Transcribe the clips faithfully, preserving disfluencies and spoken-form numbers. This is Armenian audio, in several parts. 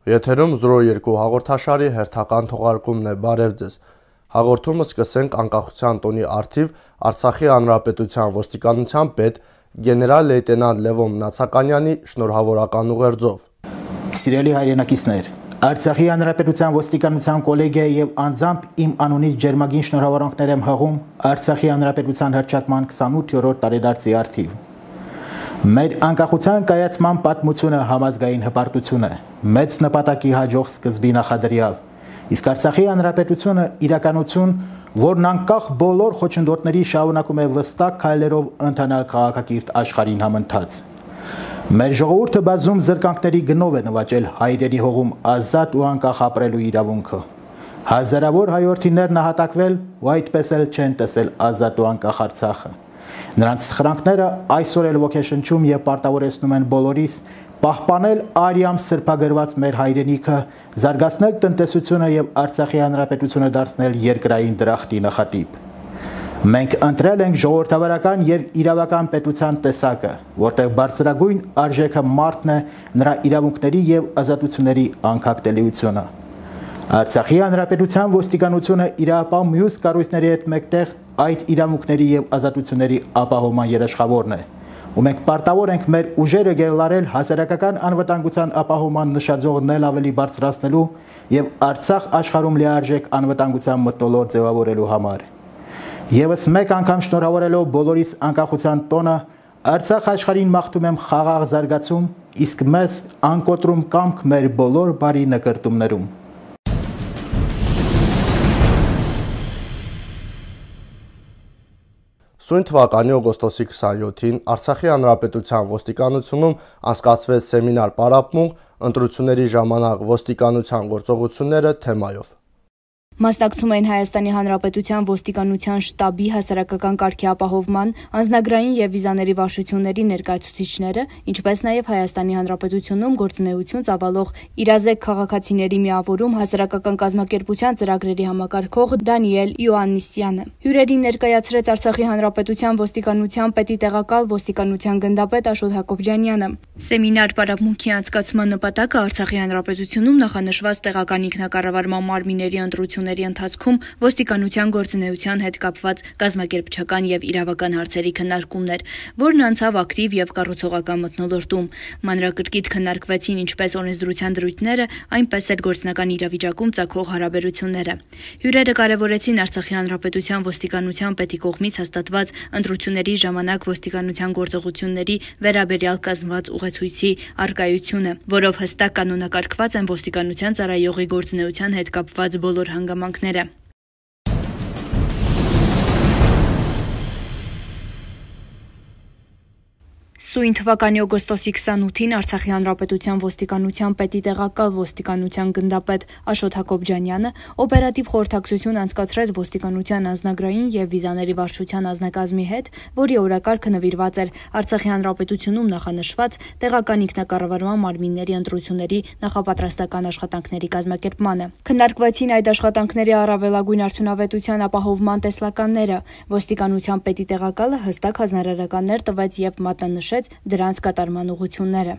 Եթերում զրո երկու հաղորդաշարի հերթական թողարկումն է, բարև ձեզ։ Հաղորդումը սկսենք անկախության տոնի առթիվ Արցախի Հանրապետության ոստիկանության պետ գեներալ լեյտենանտ Լևոն Նացականյանի շնորհավորական ուղերձով։ Սիրելի հայրենակիցներ, Արցախի Հանրապետության ոստիկանության կոլեգիայի եւ անձամբ իմ անունից ջերմագին շնորհավորանքներ եմ հղում Արցախի Հանրապետության հռչակման քսանութ-րդ տարեդարձի առթիվ։ Մեր անկախության կայացման պատմությունը համազգային հպարտություն է, մեծ նպատակի հաջող սկզբի նախադրյալ, իսկ Արցախի Հանրապետությունը իրականություն, որն անկախ բոլոր խոչընդոտների շարունակում է վստահ քայլերով ընթանալ քաղաքակիրթ աշխարհին համընթաց։ Մեր ժողովուրդը բազում զրկանքների գնով է նվաճել հայրենի հողում ազատ ու անկախ ապրելու իրավունքը։ Հազարավոր հայրենիներ նահատակվել ու այդպես էլ չեն տեսել ազատ ու անկախ Արցախը։ Նրանց սխրանքները այսօր էլ ոգեշնչում եւ պարտավորեցնում են բոլորիս պահպանել արյամբ սրբագրված մեր հայրենիքը, զարգացնել տնտեսությունը եւ Արցախի Հանրապետությունը դարձնել երկրային դրախտի նախատիպ։ Մենք ընտրել ենք ժողովրդավարական եւ իրավական պետության տեսակը, որտեղ բարձրագույն արժեքը մարդն է, նրա իրավունքների եւ ազատությունների անկախտելիությունը։ Արցախի Հանրապետության ոստիկանությունը իրապահ մյուս կառույցների հետ մեկտեղ այդ իրավունքների եւ ազատությունների ապահովման երաշխավորն է, ու մենք պարտավոր ենք մեր ուժերը գերլարել հասարակական անվտանգության ապահովման նշաձողն էլ ավելի բարձրացնելու եւ Արցախ աշխարհում լիարժեք անվտանգության մթնոլորտ ձևավորելու համար։ Եվս մեկ անգամ շնորհավորելով բոլորիս անկախության տոնը, Արցախ աշխարհին մաղթում եմ խաղաղ զարգացում, իսկ մեզ անկոտրում կամք մեր բոլոր բարի նկարտումներում։ Սույն թվականի օգոստոսի քսանյոթին Արցախի Հանրապետության ոստիկանությունում անցկացվեց սեմինար պարապմունք ընտրությունների ժամանակ ոստիկանության գործողությունները թեմայով։ Մասնակցում էին Հայաստանի Հանրապետության ոստիկանության շտաբի հասարակական կարգի ապահովման, անձնագրային եւ վիզաների վարչությունների ներկայացուցիչները, ինչպես նաեւ Հայաստանի Հանրապետությունում գործունեություն ծավալող իրազեկ քաղաքացիների միավորում հասարակական կազմակերպության ծրագրերի համակարգող Դանիել Յոաննիսյանը։ Հյուրերին ներկայացրեց Արցախի Հանրապետության ոստիկանության պետի տեղակալ ոստիկանության գնդապետ Աշոտ Հակոբյանյանը։ Սեմինար պարապմունքի անցկացման նպատակը Արցախի Հանրապետությունում նախանշված տեղական ինքնակառավարման մարմինների ընտրություն ընթացքում ոստիկանության գործունեության հետ կապված կազմակերպչական եւ իրավական հարցերի քննարկումն էր, որն անցավ ակտիվ եւ կառուցողական մթնոլորտում։ Մանրակրկիտ քննարկվեցին ինչպես օրենսդրության դրույթները, այնպես էլ գործնական իրավիճակում ծագող հարաբերությունները։ Հյուրերը կարևորեցին Արցախի Հանրապետության ոստիկանության պետի կողմից հաստատված ընտրությունների ժամանակ ոստիկանության գործողությունների վերաբերյալ կազմված ուղեցույցի առկայությունը, որով հստակ կանոնակարգված են ոստիկանության ծառայողի գործունեության հետ կապված բոլոր հանգամանքները։ Սույն թվականի օգոստոսի քսանութին Արցախի Հանրապետության ոստիկանության պետի տեղակալ ոստիկանության գնդապետ Աշոտ Հակոբյանյանը օպերատիվ խորհրդակցություն անցկացրեց ոստիկանության անձնագրային եւ վիզաների վարչության անձնակազմի հետ, որի օրակարգը նվիրված էր Արցախի Հանրապետությունում նախանշված տեղական ինքնակառավարման մարմինների ընտրությունների նախապատրաստական աշխատանքների կազմակերպմանը։ Քննարկվեցին այդ աշխատանքների առավելագույն արդյունավետության ապահովման տեսլականները։ Ոստիկանության պետի տեղակալը հստակ հանրարարականներ տվեց եւ մատնանշեց դրանց կատարման ուղղությունները։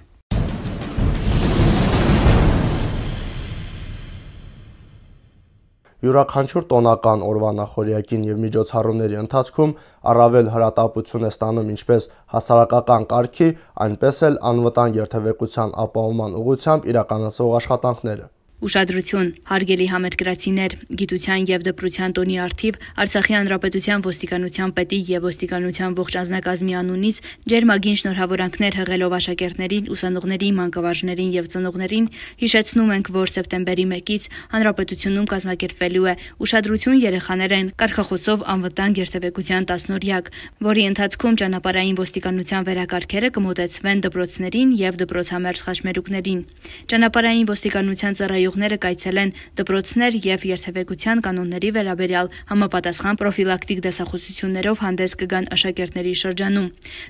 Յուրաքանչյուր տոնական օրվա նախօրյակին եւ միջոցառումների ընթացքում առավել հրատապություն է ստանում ինչպես հասարակական կարգի, այնպես էլ անվտանգ երթևեկության ապահովման ուղղությամբ իրականացվող աշխատանքները։ Ուշադրություն, հարգելի համերկրացիներ, գիտության եւ դպրության տոնի առթիվ Արցախի Հանրապետության ոստիկանության պետի եւ ոստիկանության ողջ անձնակազմի անունից ջերմագին շնորհավորանքներ հղելով աշակերտներին, ուսանողներին, մանկավարժներին եւ ծնողներին հիշեցնում ենք, որ սեպտեմբերի մեկից Հանրապետությունում կազմակերպվելու է ուշադրություն երեխաներեն կարգախոսով անվտանգ երթևեկության տասնօրյակ, որի ընթացքում ճանապարհային ոստիկանության վերակարգերը կմոտեցվեն դպրոցներին եւ դպրոցամերձ խաչմերուկներին։ Ճանապարհային ոստիկանության ծառայ Ները կայցելեն դպրոցներ եւ երթևեկության կանոնների վերաբերյալ համապատասխան պրոֆիլակտիկ դասախոսություններով հանդես կգան աշակերտների շրջանում։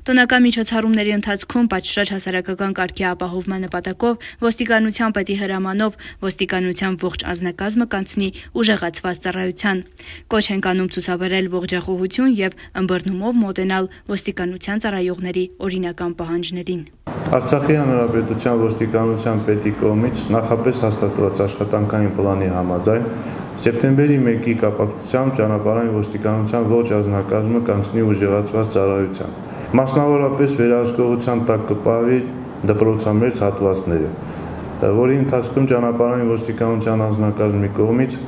Տոնական միջոցառումների ընթացքում պատշաճ հասարակական կարգի ապահովման նպատակով ոստիկանության պետի հրամանով ոստիկանության ողջ անձնակազմը կանցնի ուժեղացված ծառայության։ Կոչ ենք անում ցուցաբերել ողջախոհություն եւ ըմբռնումով մոտենալ ոստիկանության ծառայողների օրինական պահանջներին։ Արցախի հանրապետության ոստիկանության պետի կողմից նախապես հաստատված աշխատանքային պլանի համաձայն սեպտեմբերի մեկի կապակցությամբ ճանապարհային ոստիկանության ողջ անձնակազմը կանցնի ուժեղացված ծառայության։ Մասնավորապես վերահսկողության տակ կպահվի դպրոցամերձ հատվածները, որի ընթացքում ճանապարհային ոստիկանության անձնակազմի կողմից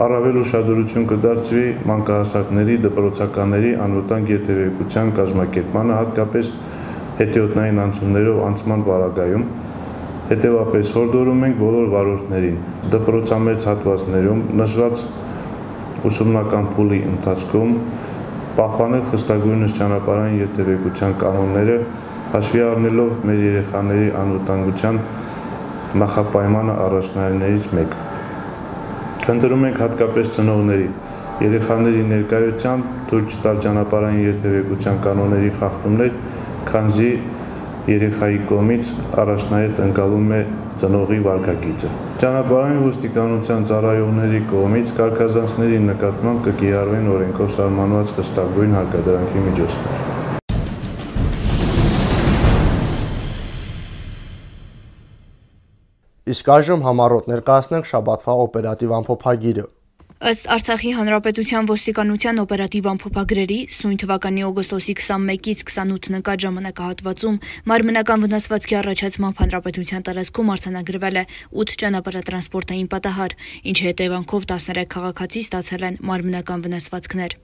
առավել ուշադրություն կդարձվի մանկահասակների, դպրոցականների անվտանգ երթևեկության կազմակերպմանը, հատկապես հետիոտնային անցումներով անցման պարագայում։ Հետևապես հորդորում ենք բոլոր վարորդներին դպրոցամերձ հատվածներում նշված ուսումնական փուլի ընթացքում պահպանել խստագույնս ճանապարհային երթևեկության կանոնները, հաշվի առնելով մեր երեխաների անվտանգության նախապայմանը առաջնայիններից մեկը։ Խնդրում ենք հատկապես ծնողների երեխաների ներկայությամբ թույլ չտալ ճանապարհային երթևեկության կանոնների խախտումներ, քանզի երեխայի կողմից առաջնահերթ ընկալում է ծնողի վարքագիծը։ Ճանապարհային ոստիկանության ծառայողների կողմից կարգազանցների նկատմամբ կկիրառվեն օրենքով սահմանված խստագույն հարկադրանքի միջոցներ։ Իսկ այժմ համառոտ ներկայացնենք շաբաթվա օպերատիվ ամփոփագիրը։ Ըստ Արցախի հանրապետության ոստիկանության օպերատիվ ամփոփագրերի սույն թվականի օգոստոսի քսանմեկից քսանութ նկատ ժամանակահատվածում մարմնական վնասվածքի առաջացմամբ հանրապետության տարածքում արձանագրվել է ութ ճանապարհատրանսպորտային պատահար, ինչի հետևանքով տասներեք քաղաքացի ստացել են մարմնական վնասվածքներ։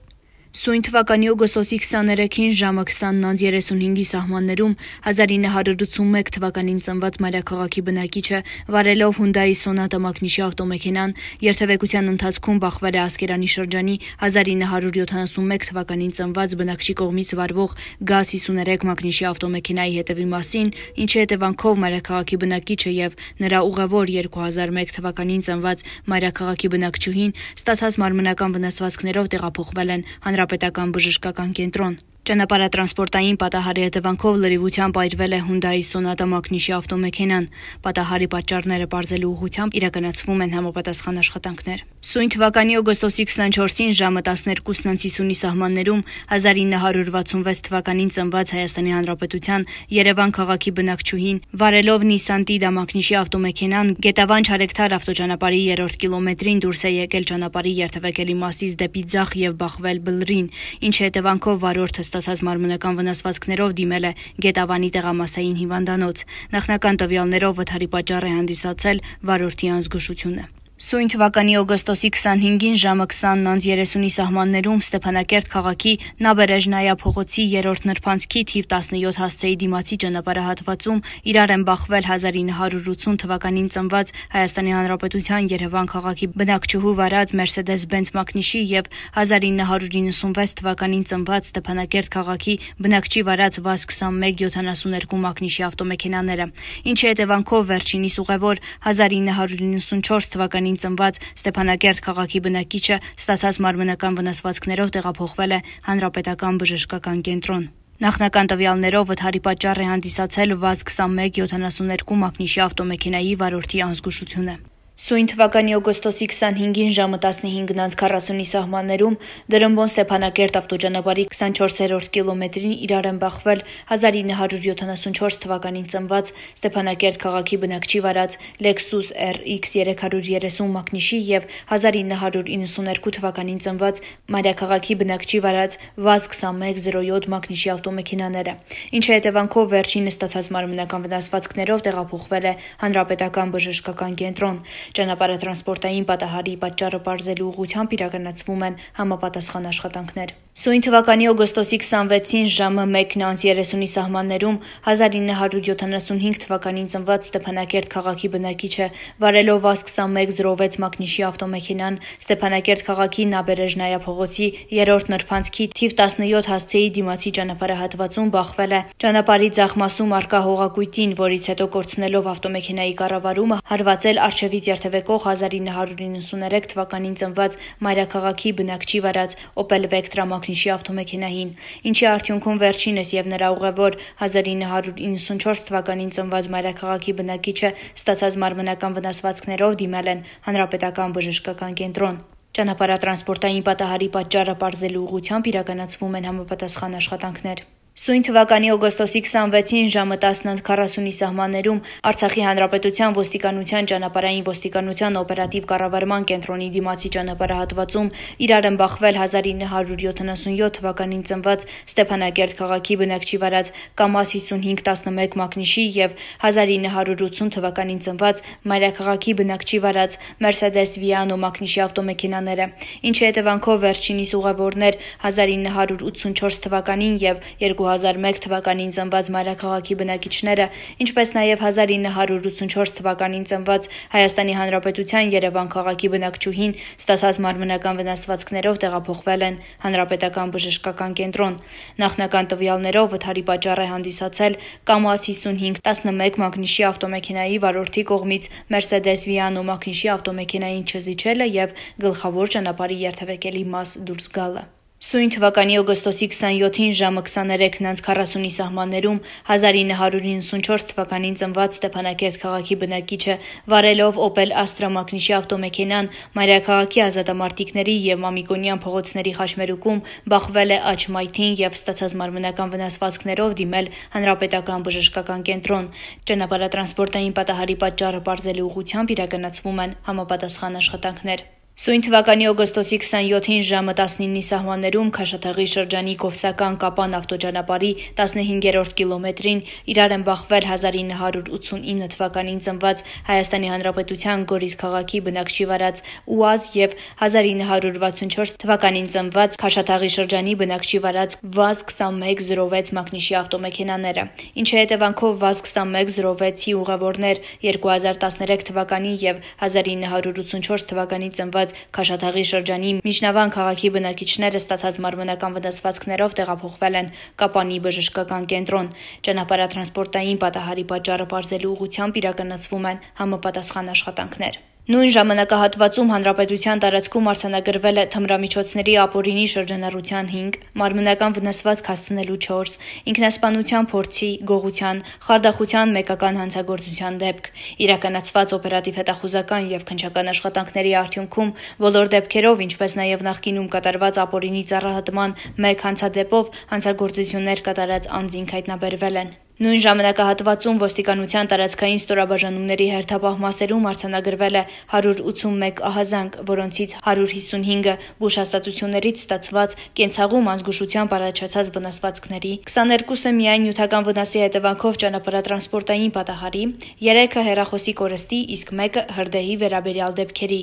Սույն թվականի օգոստոսի քսաներեքին ժամը քսանն անց երեսունհինգի սահմաններում հազար ինը հարյուր ութսունմեկ թվականին ծնված մայրաքաղաքի բնակիչը վարելով Hyundai Sonata մակնիշի ավտոմեքենան երթևեկության ընթացքում բախվել է Ասկերանի շրջանի հազար ինը հարյուր յոթանասունմեկ թվականին ծնված բնակչի կողմից վարվող գազ հիսուներեք մակնիշի ավտոմեքենայի հետևի մասին, ինչի հետևանքով մայրաքաղաքի բնակիչը եւ նրա ուղևոր երկու հազար մեկ թվականին ծնված մայրաքաղաքի բնակչուհին ստացած մարմնական վնասվածքներով տեղափոխվել են Հանրապետական բժշկական կենտրոն։ Ճանապարհատրանսպորտային պատահարի հետևանքով լրիվությամբ այրվել է Hyundai Sonata մակնիշի ավտոմեքենան։ Պատահարի պատճառները պարզելու ուղղությամբ իրականացվում են համապատասխան աշխատանքներ։ Սույն թվականի օգոստոսի քսանչորսին ժամը տասներկուսն անց հիսունի սահմաններում հազար ինը հարյուր վաթսունվեց թվականին ծնված Հայաստանի Հանրապետության Երևան քաղաքի բնակչուհին վարելով Nissan Tiida մակնիշի ավտոմեքենան Գետավան Չարեկթար ավտոճանապարհի երրորդ կիլոմետրին դուրս է եկել ճանապարհի երթևեկելի մասից դեպի ձախ եւ բախվել բլրին, ինչի հետևանքով վարորդը ստացած մարմնական վնասվածքներով դիմել է Գետավանի տեղամասային հիվանդանոց։ Նախնական տվյալներով վթարի պատճառ է հանդիսացել վարորդի անզգուշությունը։ Սույն թվականի օգոստոսի քսանհինգին ժամը քսանն անց երեսունի սահմաններում Ստեփանակերտ քաղաքի Նաբերեժնայա փողոցի երրորդ նրբանցքի թիվ տասնյոթ հասցեի դիմացի ճանապարհահատվածում իրար են բախվել հազար ինը հարյուր ութսուն թվականին ծնված Հայաստանի Հանրապետության Երևան քաղաքի բնակչուհու վարած Mercedes-Benz մակնիշի եւ հազար ինը հարյուր իննսունվեց թվականին ծնված Ստեփանակերտ քաղաքի բնակչի վարած վազ քսանմեկ յոթանասունհինգ մակնիշի ավտոմեքենաները, ինչի հետևանքով վերջինիս ուղևոր հազար ինը հարյուր իննսունչորս թվականին ծնված Ստեփանակերտ քաղաքի բնակիչը ստացած մարմնական վնասվածքներով տեղափոխվել է Հանրապետական բժշկական կենտրոն։ Նախնական տվյալներով վթարի պատճառ է հանդիսացել վազ քսանմեկ յոթանասունհինգ մակնիշի ավտոմեքենայի վարորդի անզգուշությունը։ Սույն թվականի օգոստոսի քսանհինգին ժամը տասնհինգն անց քառասունի սահմաններում Դրամբոն Ստեփանակերտ ավտոճանապարհի քսանչորսերորդ կիլոմետրին իրար են բախվել հազար ինը հարյուր յոթանասունչորս թվականին ծնված Ստեփանակերտ քաղաքի բնակչի վարած Lexus R X երեք հարյուր երեսուն մակնիշի եւ հազար ինը հարյուր իննսուներկու թվականին ծնված մայրաքաղաքի բնակչի վարած վազ քսանմեկ զիրո յոթ մակնիշի ավտոմեքենաները, ինչի հետևանքով վերջինը ստացած մարմնական վնասվածքներով տեղափոխվել է Հանրապետական բժշկական կենտրոն։ Ճանապարհատրանսպորտային պատահարի պատճառը պարզելու ուղղությամբ իրականացվում են համապատասխան աշխատանքներ։ Սույն թվականի օգոստոսի քսանվեցին ժամը մեկն անց երեսունի սահմաններում հազար ինը հարյուր յոթանասունհինգ թվականին ծնված Ստեփանակերտ քաղաքի բնակիչը վարելով վազ քսանմեկ զիրո վեց մակնիշի ավտոմեքենան Ստեփանակերտ քաղաքի Նաբերեժնայա փողոցի երրորդ նրբանցքի թիվ տասնյոթ հասցեի դիմացի ճանապարհահատվածում բախվել է ճանապարհի ձախ մասում առկա հողակույտին, որից հետո կորցնելով ավտոմեքենայի կառավարումը հարվածել առջևից երթևեկող հազար ինը հարյուր իննսուներեք թվականին ծնված մայրաքաղաքի բնակչի վարած Opel Vectra մակնիշի ավտոմեքենային, ինչի արդյունքում վերջինս եւ նրա ուղևոր հազար ինը հարյուր իննսունչորս թվականին ծնված մայրաքաղաքի բնակիչը ստացած մարմնական վնասվածքներով դիմել են Հանրապետական բժշկական կենտրոն։ Ճանապարհատրանսպորտային պատահարի պատճառը պարզելու ուղղությամբ իրականացվում են համապատասխան աշխատանքներ։ Սույն թվականի օգոստոսի քսանվեցին ժամը տասն քառասունի սահմաններում Արցախի Հանրապետության ոստիկանության ճանապարհային ոստիկանության օպերատիվ կառավարման կենտրոնի դիմացի ճանապարհահատվածում իրար են բախվել հազար ինը հարյուր յոթանասունյոթ թվականին ծնված Ստեփանակերտ քաղաքի բնակչի վարած կամազ հիսունհինգ տասնմեկ մակնիշի եւ հազար ինը հարյուր ութսուն թվականին ծնված մայրաքաղաքի բնակչի վարած Mercedes Viano մակնիշի ավտոմեքենաները, ինչի հետևանքով վերջինիս ուղևորներ հազար ինը հարյուր ութսունչորս թվականին եւ երկու հազար մեկ թվականին ծնված մայրաքաղաքի բնակիչները, ինչպես նաև հազար ինը հարյուր ութսունչորս թվականին ծնված Հայաստանի Հանրապետության Երևան քաղաքի բնակչուհին ստացած մարմնական վնասվածքներով տեղափոխվել են Հանրապետական բժշկական կենտրոն։ Նախնական տվյալներով վթարի պատճառ է հանդիսացել կամազ հիսունհինգ տասնմեկ մակնիշի ավտոմեքենայի վարորդի կողմից Mercedes Viano մակնիշի ավտոմեքենային չզիջելը եւ գլխավոր ճանապարհի երթևեկելի մաս դուրս գալը։ Սույն թվականի օգոստոսի քսանյոթին ժամը քսաներեքն քառասունի սահմաններում հազար ինը հարյուր իննսունչորս թվականին ծնված Ստեփանակերտ քաղաքի բնակիչը վարելով Opel Astra մակնիշի ավտոմեքենան մայրաքաղաքի ազատամարտիկների եւ Մամիկոնյան փողոցների խաչմերուկում բախվել է աջ մայթին եւ ստացած մարմնական վնասվածքներով դիմել Հանրապետական բժշկական կենտրոն։ Ճանապարհատրանսպորտային պատահարի պատճառը պարզելու ուղղությամբ իրականացվում են համապատասխան աշխատանքներ։ Սույն թվականի օգոստոսի քսանյոթին ժամը տասնինի սահմաններում Քաշաթաղի շրջանի Կովսական Կապան ավտոճանապարհի տասնհինգերորդ կիլոմետրին իրար են բախվել հազար ինը հարյուր ութսունինը թվականին ծնված Հայաստանի Հանրապետության Գորիս քաղաքի բնակչի վարած ՈՒԱԶ եւ հազար ինը հարյուր վաթսունչորս թվականին ծնված Քաշաթաղի շրջանի բնակչի վարած վազ քսանմեկ զրո վեց մակնիշի ավտոմեքենաները, ինչի հետևանքով վազ քսանմեկ զրո վեցի ուղևորներ երկու հազար տասներեք թվականի եւ հազար ինը հարյուր ութսունչորս թվականին ծնված Քաշաթաղի շրջանի Միջնավան քաղաքի բնակիչները ստացած մարմնական վնասվածքներով տեղափոխվել են Կապանի բժշկական կենտրոն։ Ճանապարհատրանսպորտային պատահարի պատճառը պարզելու ուղղությամբ իրականացվում են համապատասխան աշխատանքներ։ Նույն ժամանակահատվածում հանրապետության տարածքում արձանագրվել է թմրամիջոցների ապօրինի շրջանառության հինգ, մարմնական վնասվածք հասցնելու չորս, ինքնասպանության փորձի, գողության, խարդախության մեկական հանցագործության դեպք։ Իրականացված օպերատիվ հետախուզական եւ քննչական աշխատանքների արդյունքում բոլոր դեպքերով, ինչպես նաեւ նախկինում կատարված ապօրինի ծառայատման մեկ հանցադեպով հանցագործություններ կատարած անձինք հայտնաբերվել են։ Նույն ժամանակահատվածում ոստիկանության տարածքային ստորաբաժանումների հերթապահ մասերում արձանագրվել է հարյուր ութսունմեկ ահազանգ, որոնցից հարյուր հիսունհինգը բուժհաստատություններից ստացված կենցաղում ազգուշությամբ առաջացած վնասվածքների, քսաներկուսը միայն նյութական վնասի հետևանքով ճանապարհատրանսպորտային պատահարի, երեքը հեռախոսի կորստի, իսկ մեկը հրդեհի վերաբերյալ դեպքերի։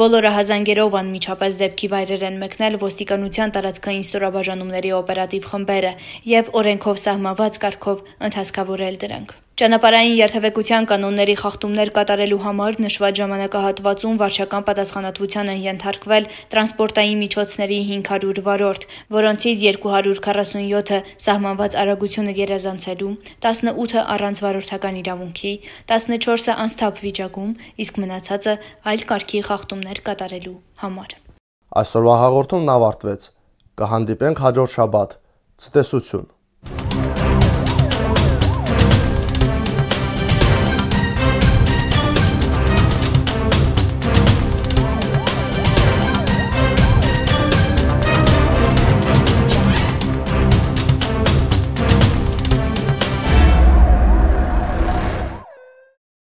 Բոլոր ահազանգերով անմիջապես դեպքի վայրեր են մեկնել ոստիկանության տարածքային ստորաբաժանումների օպերատիվ խմբերը եւ օրենքով սահմանված կարգով հասկավորել դրանք։ Ճանապարհային երթևեկության կանոնների խախտումներ կատարելու համար նշված ժամանակահատվածում վարչական պատասխանատվության են ենթարկվել տրանսպորտային միջոցների հինգ հարյուր վարորդ, որոնցից երկու հարյուր քառասունյոթը սահմանված արագությունը գերազանցելու, տասնութը առանց վարորդական իրավունքի, տասնչորսը անսթափ վիճակում, իսկ մնացածը այլ կարգի խախտումներ կատարելու համար։ Այսօրվա հաղորդումն ավարտվեց։ Կհանդիպենք հաջորդ շաբաթ։ Ցտեսություն։